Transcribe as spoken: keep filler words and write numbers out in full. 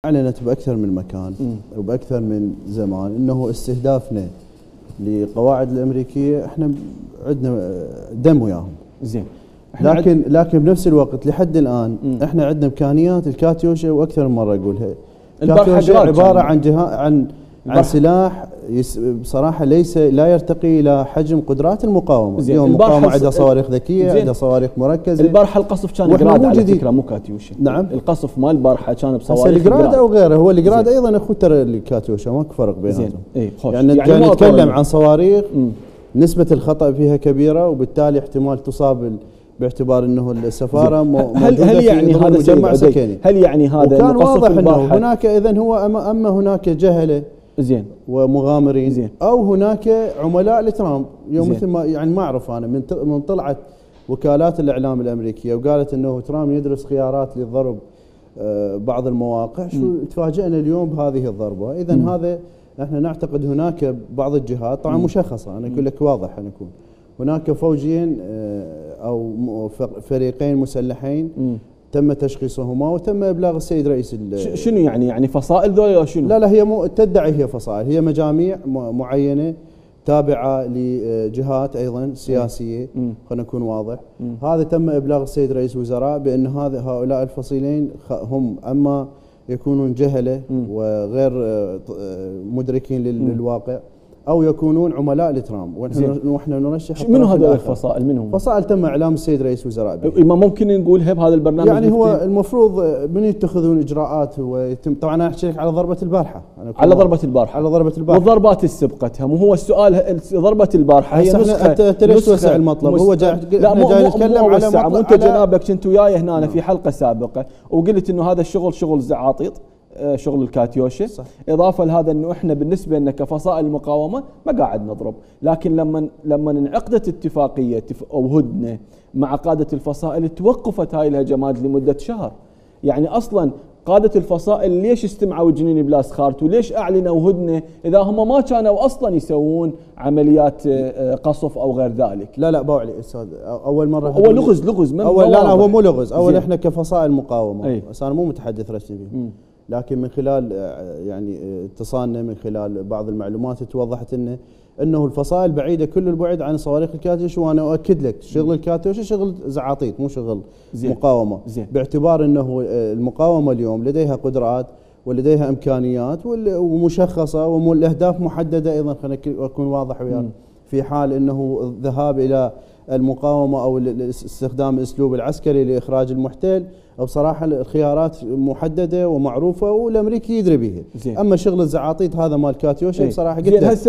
أعلنت بأكثر من مكان م. وبأكثر من زمان أنه استهدافنا لقواعد الأمريكية احنا عندنا دم وياهم. زين. لكن لكن بنفس الوقت لحد الآن م. احنا عندنا إمكانيات الكاتيوشا، وأكثر من مرة أقولها الكاتيوشا عبارة عن جهاز عن عن سلاح بصراحة ليس لا يرتقي إلى حجم قدرات المقاومة. زين. اليوم المقاومة عندها صواريخ ذكية، عندها صواريخ مركزة. البارحة القصف كان جراد على فكرة مو كاتيوشا. نعم. القصف مال البارحة كان بصواريخ جراد أو غيره. هو الجراد أيضا أخو ترى الكاتيوشا ماكو فرق بيناتهم. اي خوش. يعني, يعني نتكلم عن صواريخ م. نسبة الخطأ فيها كبيرة، وبالتالي احتمال تصاب باعتبار انه السفاره هل هل يعني هذا مجمع سكني؟ هل يعني هذا وكان واضح انه هناك اذا هو اما, أما هناك جهله زين ومغامرين زين، او هناك عملاء لترامب. يوم مثل ما يعني ما اعرف انا من من طلعت وكالات الاعلام الامريكيه وقالت انه ترامب يدرس خيارات للضرب بعض المواقع، شو تفاجئنا اليوم بهذه الضربه. اذا هذا احنا نعتقد هناك بعض الجهات طبعا مشخصه، انا اقول لك واضح انا اكون هناك فوجين او فريقين مسلحين م. تم تشخيصهما وتم ابلاغ السيد رئيس. شنو يعني يعني فصائل ذولا شنو؟ لا لا هي مو تدعي هي فصائل، هي مجاميع معينه تابعه لجهات ايضا سياسيه. خلينا نكون واضح. م. هذا تم ابلاغ السيد رئيس الوزراء بان هذا هؤلاء الفصيلين هم اما يكونون جهله م. وغير مدركين للواقع، او يكونون عملاء لترامب، ونحن نرشح. منو هذول الفصائل؟ منهم فصائل تم اعلام السيد رئيس الوزراء. ما ممكن نقولها بهذا البرنامج؟ يعني هو المفروض من يتخذون اجراءات ويتم. طبعا انا احكي لك على ضربه البارحه، على ضربه البارحه على ضربه البارحه والضربات اللي سبقتها. مو هو السؤال ضربه البارحه هي نسخه. انت ليش توسع المطلب؟ هو جاي لا مو جاي نتكلم على مطلب. وانت جنابك كنت وياي هنا في حلقه سابقه وقلت انه هذا الشغل شغل زعاطيط، شغل الكاتيوشا. صح. اضافه لهذا انه احنا بالنسبه لنا كفصائل المقاومه ما قاعد نضرب، لكن لما لما انعقدت اتفاقيه او هدنه مع قاده الفصائل توقفت هاي الهجمات لمده شهر. يعني اصلا قاده الفصائل ليش استمعوا جنين بلاس خارت وليش اعلنوا هدنه اذا هم ما كانوا اصلا يسوون عمليات قصف او غير ذلك؟ لا لا باوعلي استاذ، اول مره هو لغز لغز من اول. لا لا هو مو لغز. اول احنا كفصائل مقاومه، بس انا مو متحدث رسمي به، لكن من خلال يعني اتصالنا من خلال بعض المعلومات توضحت انه انه الفصائل بعيده كل البعد عن صواريخ الكاتيوشا. وانا اؤكد لك شغل الكاتيوشا شغل زعاطيط مو شغل زين. مقاومه زين. باعتبار انه المقاومه اليوم لديها قدرات ولديها امكانيات ومشخصه والاهداف محدده ايضا. خلينا اكون واضح وياك، في حال انه الذهاب الى المقاومه او استخدام الاسلوب العسكري لاخراج المحتل، بصراحه الخيارات محدده ومعروفه والامريكي يدري بها. اما شغل الزعاطيط هذا مال كاتيوشا بصراحه قلت